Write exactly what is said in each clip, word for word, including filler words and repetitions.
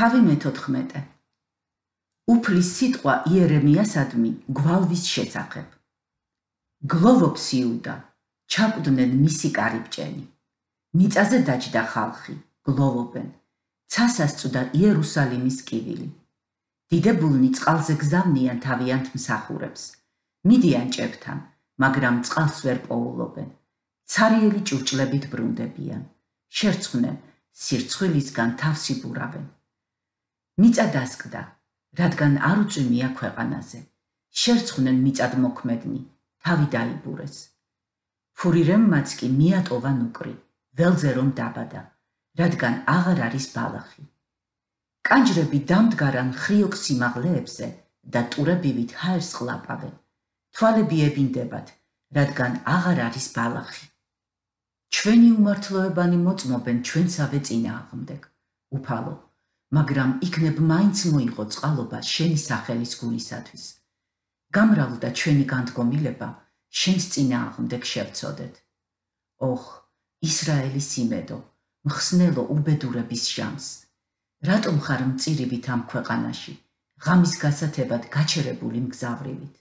თავი მეთოთხმეტე. უფლის სიტყვა იერემიასადმი გვალვის შესახებ. გლოვობს იუდა, ჩაკვდნენ მისი კარიბჭენი. მიწაზე დაჯდა ხალხი, გლოვობენ. ცასას წვდა იერუსალიმის კივილი. დიდებულნი წყალზე გზავნიან თავიანთ მსახურებს. მიდიან ჭებთან, მაგრამ წყალს ვერ პოულობენ. ცარიელი ჭურჭლებით ბრუნდებიან. შერცხვნენ, სირცხვილისგან თავს იბურავენ. მიწა დასკდა, რადგან არ უწვიმია ქვეყანაზე. შერცხვნენ მიწად მოქმედნი, თავი დაიბურეს. ფურირემმაც კი მიატოვა ნუკრი, ველზე რომ დაბადა, რადგან აღარ არის ბალახი. კანჯრები დამდგარან ხრიოკ სიმაღლეებზე და ტურებივით ჰაერს ყლაპავენ. თვალები ებინდებათ, რადგან აღარ არის ბალახი. ჩვენი უმართლოებანი მოწმობენ ჩვენსავე წინააღმდეგ, უფალო, მაგრამ იქნებ მაინც მოიღო წყალობა შენი სახელის გულისათვის. გამრავლდა ჩვენი განდგომილება, შენს წინააღმდეგ შევწოდეთ. ოხ, ისრაელის იმედო, მხსნელო უბედურების ჟამს. რატომ ხარ მწირივით ამ ქვეყანაში, ღამის გასათებად გაჩერებული მგზავრივით?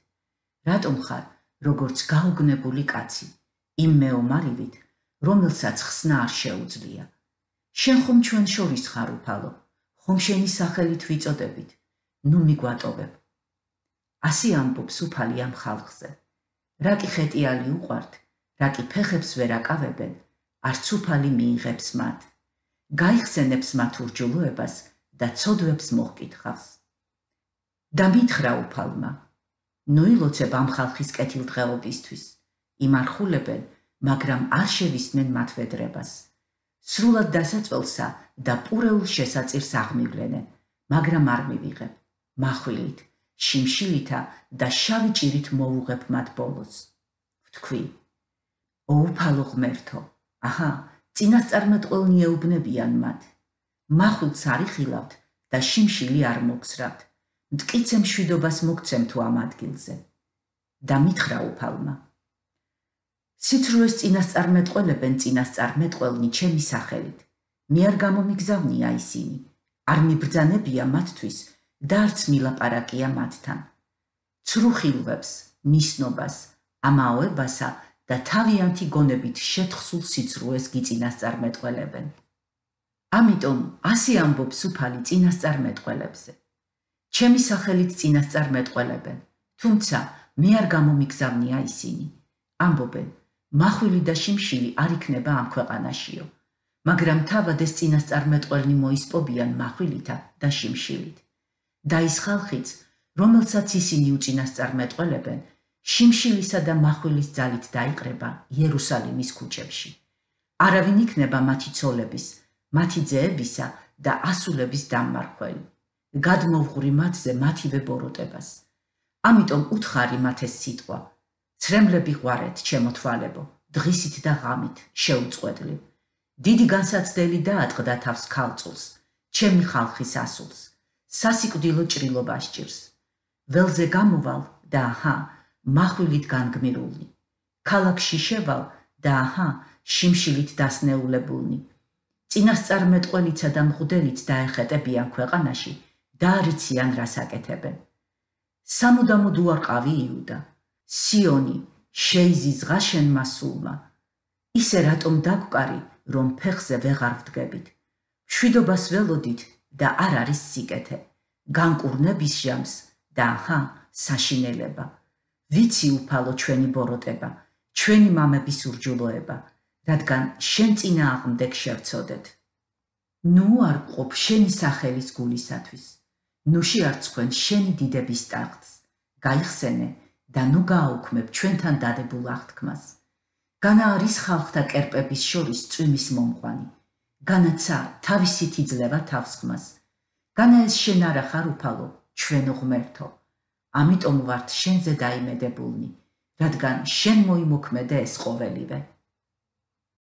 რატომ ხარ, როგორც გაუგნებული კაცი, იმ მეომარივით, რომელსაც ხსნა არ შეუძლია? შენ ხომ ჩვენ შორის ხარ, უფალო, ხომ შენი სახელით ვიწოდებით, ნუ მიგვატოვებ. ასე ამბობს უფალი ამ ხალხზე. რა კი ხეტიალი უყვართ, რა კი ფეხებს ვერ აკავებენ, არც უფალი მიიღებს მათ. გაიხსენებს მათ ურჯულოებას და ცოდვებს მოჰკითხავს. და მითხრა უფალმა, ნუ ილოცებ ამ ხალხის კეთილდღეობისთვის, იმარხულებენ, მაგრამ არ შევისმენ მათ ვედრებას. სრულად დასაწველსა და პურეულ შესაწირს აღმივლენენ, მაგრამ არ მივიღებ. მახვილით, შიმშილითა და შავი ჭირით მოვუღებ მათ ბოლოს. ვთქვი, ო უფალო ღმერთო, აჰა, წინასწარმეტყველნი ეუბნებიან მათ. მახვილს არ იხილავთ და შიმშილი არ მოგზრავთ. მტკიცე მშვიდობას მოგცემ თუ ამ ადგილზე. და მითხრა უფალმა, სიცრუეს წინასწარმეტყველებენ წინასწარმეტყველნი ჩემი სახელით. მე არ გამომიგზავნია ისინი, არ მიბრძანებია მათთვის და არც მილაპარაკია მათთან. ცრუ ხილვებს, მისნობას, ამაოებასა და თავიანთი გონებით შეთხსულ სიცრუეს გიწინასწარმეტყველებენ. ამიტომ ასე ამბობს უფალი წინასწარმეტყველებზე. ჩემი სახელით წინასწარმეტყველებენ, თუმცა მე არ გამომიგზავნია ისინი. ამბობენ, მახვილი და შიმშილი არ იქნება ამ ქვეყანაშიო, მაგრამ თავად ეს წინასწარმეტყველნი მოისპობიან მახვილითა და შიმშილით. და ის ხალხიც, რომელსაც ისინი უწინასწარმეტყველებენ, შიმშილისა და მახვილის ძალით დაიყრება იერუსალიმის ქუჩებში. არავინ იქნება მათი ცოლების, მათი ძეებისა და ასულების დამმარხველი. გადმოვღური მათზე მათივე ბოროტებას. ამიტომ უთხარი მათ ეს სიტყვა, ცრემლები ღვარეთ, ჩემო თვალებო, დღისით და ღამით, შეუწყვეტლივ. დიდი განსაცდელი დაატყდა თავს ქალწულს, ჩემი ხალხის ასულს. სასიკვდილო ჭრილობა სჭირს. ველზე გამოვალ და აჰა, მახვილით განგმირულნი. ქალაქში შევალ და აჰა, შიმშილით დასნეულებულნი. წინასწარმეტყველიცა და მღვდელიც დაეხეტებიან ქვეყანაში და არ იციან რას აკეთებენ. სამუდამოდ უარყავი იუდა, სიონი, შეიზიზღა შენმა სულმა. ისე რატომ დაგვკარი, რომ ფეხზე ვეღარ ვდგებით. მშვიდობას ველოდით და არ არის სიკეთე, განკურნების ჟამს და აჰა, საშინელება. ვიცი უფალო ჩვენი ბოროტება, ჩვენი მამების ურჯულოება, რადგან შენ წინააღმდეგ შევწოდეთ. ნუ არ გყოფ შენი სახელის გულისათვის, ნუ შეარცხვენ შენი დიდების ტახტს, გაიხსენე და ნუ გააუქმებ ჩვენთან დადებულ აღთქმას. განა არის ხალხთა კერპების შორის წვიმის მომყვანი, განაცა თავისით იძლევა თავსხმას. განა ეს შენ არა ხარ უფალო, ჩვენო ღმერთო, ამიტომ ვართ შენზე დაიმედებულნი, რადგან შენ მოიმოქმედე ეს ყოველივე.